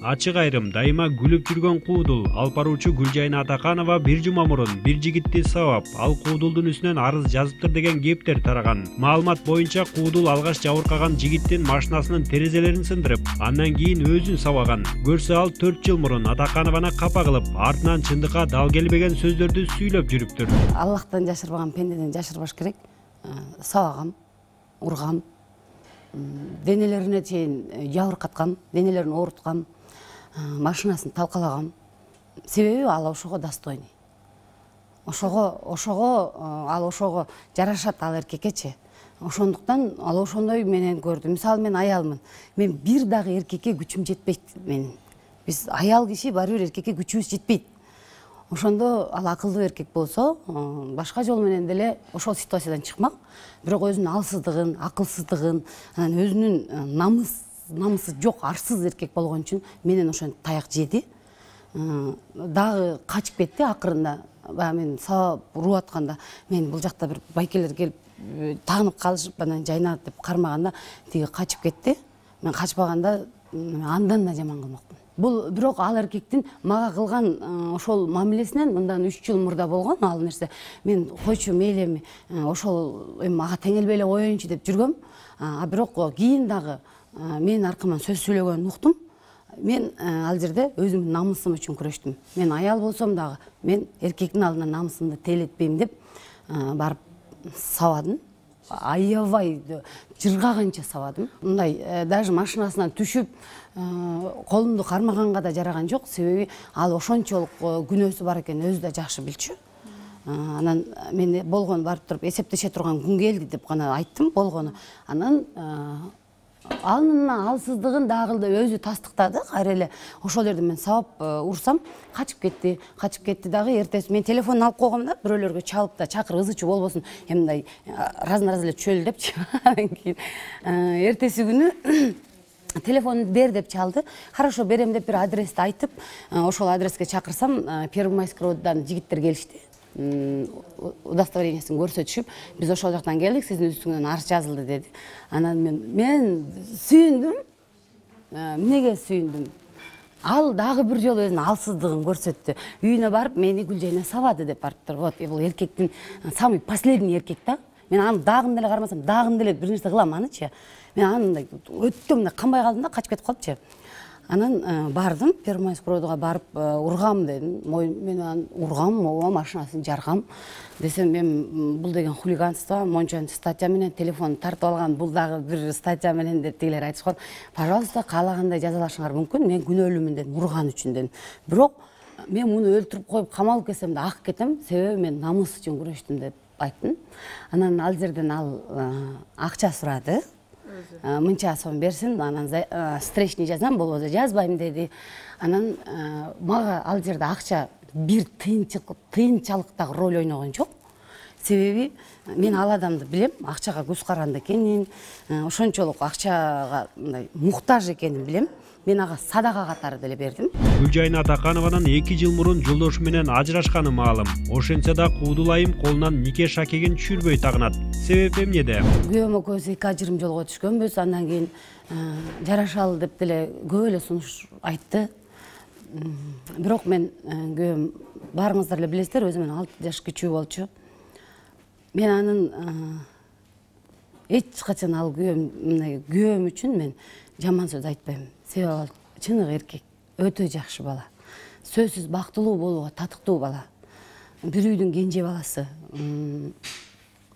Ачык айрым дайыма күлүп жүргөн куудул. Алып баруучу Гүлжайна Атаканова бир жума мурун бир жигитти сабап, ал куудулдун үстүнөн арыз жазыптыр деген кептер тараган. Маалымат боюнча куудул алгаш жабыркаган жигиттин машинасынын терезелерин сындырып, андан кийин өзүн сабаган. Көрсө ал 4 жыл мурун Атаканованы капа кылып, артынан чындыкка дал келбеген сөздөрдү сүйлөп жүрүптүр. Аллахтан жашырбаган пендеден жашырбаш керек. Сабагам, ургам, денелерине чейин жабыркаткам, денелерин ооруткам, машинасын талкалагам. Себеби ал ошого достойный. Ал ошого жарашат, ал эркекечи. Ошондуктан ал ошондой менен көрдү. Мисалы мен аялмын. Мен бир дагы эркекке күчүм жетпейт менин. Биз аял киши баары бир эркекке күчүбүз жетпейт. Ошондо ал акылдуу эркек болсо, башка жол менен деле ошол ситуациядан чыкмак. Бирок өзүнүн алсыздыгын, акылсыздыгын, өзүнүн намысы жок, арсыз эркек болгон үчүн менен ошентип таяк жеди. Дагы качып кетти акырында. Баягы мен сабап уруп атканда, мен бул жакта бир байкелер келип тагынып калышып, анан жайнат деп кармаганда, тиги качып кетти. Мен качпаганда андан да жаман кылмакмын. Бул бирок ал эркектин мага кылган ошол мамилесинен мындан 3 жыл мурда болгон ал нерсе. Мен койчу мейли эми ошол эми ага теңелбей эле коеюнчу деп жүргөм. Бирок кийин дагы менин аркаман сөз сүйлөгөнүн уктум. Мен ал жерде өзүмдүн намысым үчүн күрөштүм. Мен аял болсом дагы мен эркектин алдында намысымды тейлетпейм деп барып сабадым. Аябай жыргаганча сабадым. Мындай даже машинасынан түшүп колумду кармаганга да жараган жок. Себеби ал ошончолук күнөөсү бар экенин өзү да жакшы билчү. Анан мен болгону барып туруп эсептеше турган күн келди деп гана айттым болгону. Анан анын алсыздыгын дагы өзү тастыктады. Кайра эле ошол жерде мен сабап урсам, качып кетти дагы. Эртеси мен телефонун алып койгом да, бирөөлөргө чалып да чакыр, ызы чуу болбосун, эми мындай раз эле чөл депчи. Анан кийин эртеси күнү телефонду бер деп чалды. Хорошо, берем деп бир адрести айтып, ошол адреске чакырсам, Первомайскийдан жигиттер келишти. Удостоверениясын көрсөтүшүп, биз ошол жактан келдик, сиздин үстүңөн арыз жазылды деди. Анан мен сүйүндүм. Эмнеге сүйүндүм? Ал дагы бир жолу өзүнүн алсыздыгын көрсөттү. Үйүнө барып, мени Гүлжайна сабады деп барыптыр. Вот, бул эркектин самый последний эркек да. Мен аны дагы деле кармасам, дагы деле бир нерсе кылам анычы. Мен аны мындай өттө мындай камбай калдым да, качып кетип калыпчы. Анан бардым, Первомайскийга барып ургам дедим. Мен аны ургам, машинасын жаргам. Десем, мен бул деген хулиганство, мончанчы статья менен телефон тартып алган, бул дагы бир статья менен деп тигилер айтышкан. Пожалуйста, каалагандай жазалашыңар мүмкүн. Мен күнөөлүүмүн дедим, урган үчүн дедим. Бирок мен муну өлтүрүп коюп камалып кетсем да ак кетем, себеби мен намыс үчүн күрөштүм деп айттым. Анан ал жерден ал акча сурады. Мынча сом берсин, анан встречный жазам, болбосо жазбайм деди. Анан мага ал жерде акча бир тыйынчалык дагы роль ойногон жок. Себеби мен ал адамды билем, акчага көз каранды экенин, ошончолук акчага мындай муктаж экенин билем. Мен ага садака катары деле бердим. Гүлжайна Атаканованын 2 жыл мурун жолдошу менен ажырашканы маалым. Ошентсе да куудул айым колунан нике шакегин түшүрбөй тагынат. Себеп эмнеде? Күйөөм экөөбүз 2 жолго түшкөнбүз. Андан кийин жарашалы деп деле көп эле сунуш айтты. Бирок мен күйөөм, баарыңыздар эле билесиздер, өзү менен 6 жаш кичүү болчу. Мен анын эч качан ал күйөөм үчүн мен жаман сөз айтпайм. Себеби ал чыныгы эркек, өтө жакшы бала. Сөзсүз бактылуу болууга татыктуу бала. Бир үйдүн кенже баласы.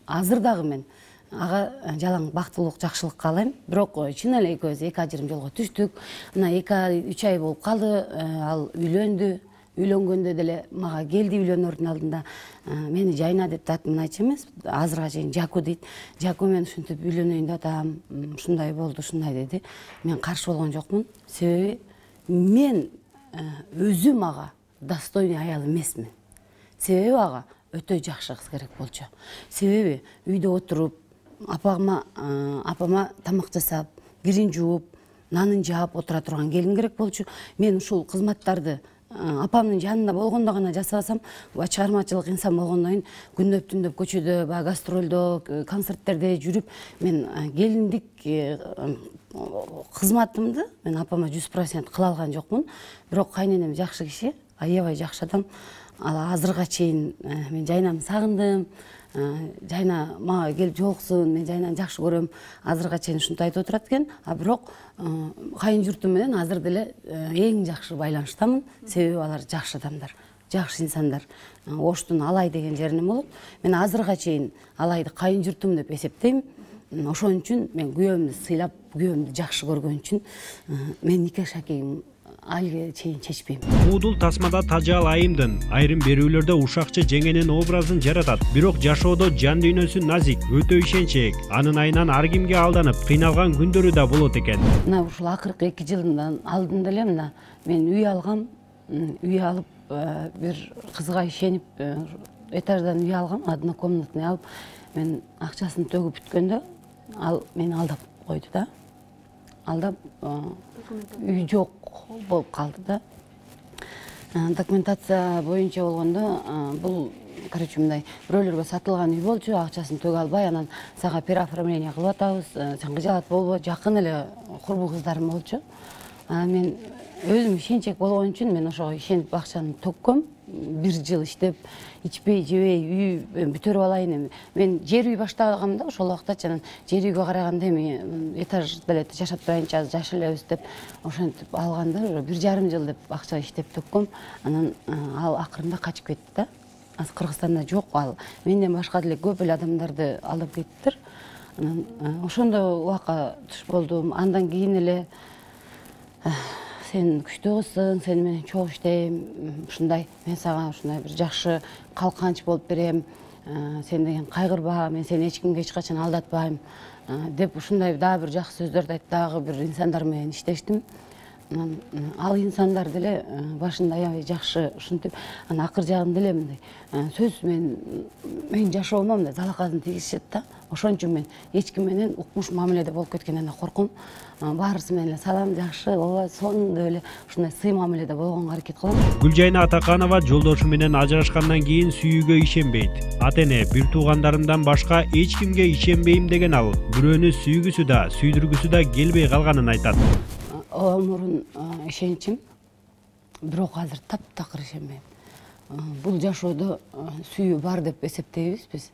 Азыр дагы мен ага жалаң бактылуулук, жакшылык каалайм. Бирок чын эле экөөбүз 2 жолго түштүк. Мына 2-3 ай болуп калды. Ал үйлөндү. Үйлөнгөндө деле мага келди үйлөнөрдүн алдында. Мени Жайна деп да атымын айтчу эмес. Азырга чейин Жаку дейт. Жаку, мен ушинтип үйлөнөйүн да атам. Ушундай болду, ушундай деди. Мен каршы болгон жокмун. Себеби мен өзүм ага достойный аял эмесмин. Себеби ага өтө жакшы кыз керек болчу. Себеби үйдө отуруп, апама тамак жасап, кирин жууп, нанын жаап отура турган келин керек болчу. Мен ушул кызматтарды апамдын жанында болгондо гана жасабасам, чыгармачылык инсан болгондон кийин күндөп түндөп көчөдө, баягы гастролдо, концерттерде жүрүп, мен келиндик кызматымды мен апама 100% кыла алган жокмун. Бирок кайненем жакшы киши, аябай жакшы адам. Ал азырга чейин мен Жайнамды сагындым. Жайна мага келип жолуксун, мен Жайнаны жакшы көрөм. Азырга чейин ушинтип айтып отурат экен. Бирок кайын журтум менен азыр деле эң жакшы байланыштамын. Себеби алар жакшы адамдар, жакшы инсандар. Оштун Алай деген жеринен болуп, мен азырга чейин Алайды кайын журтум деп эсептейм. Ошон үчүн мен күйөөмдү сыйлап, күйөөмдү жакшы көргөн үчүн мен нике шакегим айылга чейин чечпейм. Куудул тасмада Тажал Айымдын айрым берүүлөрдө ушакчы жеңенин образын жаратат. Бирок жашоодо жан дүйнөсү назик, өтө ишенчек. Анын айынан ар кимге алданып, кыйналган күндөрү да болот экен. Мына ушул акыркы 2 жылдан алдын деле мына мен үй алгам. Үй алып, бир кызга ишенип, этаждан үй алгам, однокомнатный алып, мен акчасын төгүп бүткөндө ал мени алдап койду да. Алдап үй жок болуп калды да. Документация боюнча болгондо бул короче мындай бирөөлөргө сатылган үй болчу, акчасын төгө албай, анан сага переоформление кылып атабыз, сен кыжаат болбо, жакын эле курбу кыздарым болчу. Мен өзүм ишенчек болгон үчүн мен ошого ишенип акчаны төккөм. 1 жыл иштеп, ичпей, жебей, үй бүтөрүп алайын. Мен жер үй баштаганымда ошол убактачы анан жер үйгө караганда эми этаж деле жашап турайынчы, аз жаш элебиз деп ошентип алганда 1,5 жыл деп акча иштеп төккөм. Анан ал акырында качып кетти да. Азыр Кыргызстанда жок ал. Менден башка деле көп эле адамдарды алдап кеттиптир. Анан ошондо убакка туш болдум. Андан кийин эле сен күчтүү кызсың, сени менен чогуу иштейм, ушундай, мен сага ушундай бир жакшы калканч болуп берем, сен деген кайгырба, мен сени эч кимге эч качан алдатпайм деп ушундай дагы бир жакшы сөздөрдү айтып, дагы бир инсандар менен иштештим. Ал инсандар деле башында аябай жакшы ушинтип, анан акыр жагында эле мындай сөз мен жашоомо мындай залаказын тийгизишет да. Ошон үчүн мен эч ким менен укмуш мамиледе болуп кеткенден корком. Баарысы менен эле салам, жакшы, ооба, сонун деп эле ушундай сый мамиледе болгонго аракет кылам. Гүлжайна Атаканова жолдошу менен ажырашкандан кийин сүйүүгө ишенбейт. Ата-эне, бир туугандарымдан башка эч кимге ишенбейм деген ал. Бирөөнү сүйгүсү да, сүйдүргүсү да келбей калганын айтат. Мурун ишенчим, бирок азыр таптакыр ишенбейм. Бул жашоодо сүйүү бар деп эсептейбиз биз.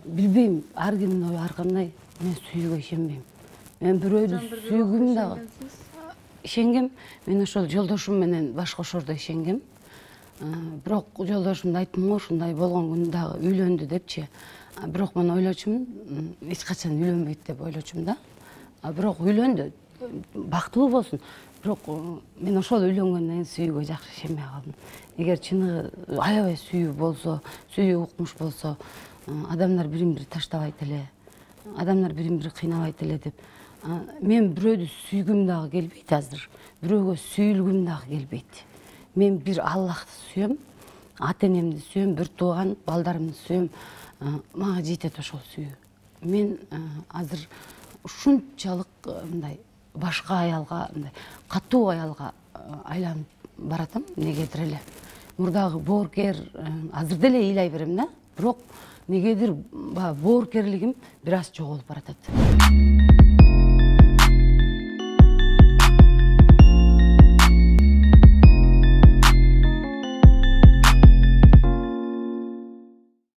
Билбейм, ар кимдин ою ар кандай, мен сүйүүгө ишенбейм. Мен бирөөдү сүйгүм дагы. Ишенгем, мен ошол жолдошум менен баш кошордо ишенгем. Бирок жолдошумду айттым го, ушундай болгон күндө дагы үйлөндү депчи. Бирок мен ойлочумун, эч качан үйлөнбөйт деп ойлочумун да. Бирок үйлөндү. Бактылуу болсун. Бирок мен ошол үйлөнгөндөн кийин сүйүүгө жакшы ишенбей калдым. Эгер чыныгы аябай сүйүү болсо, сүйүү укмуш болсо, адамдар бирин-бири таштабайт эле, адамдар бирин-бири кыйнабайт эле деп. Мен бирөөдү сүйгүм дагы келбейт азыр. Бирөөгө сүйүлгүм дагы келбейт. Мен бир Аллахты сүйөм, ата-энемди сүйөм, бир тууган балдарымды сүйөм. Мага жетет ошол сүйүү. Мен азыр ушунчалык мындай башка аялга, мындай катуу аялга айланып баратам, негедир эле. Мурдагы боорукер азыр деле ыйлай берем да, бирок негедир боорукерлигим бир аз жоголуп баратат.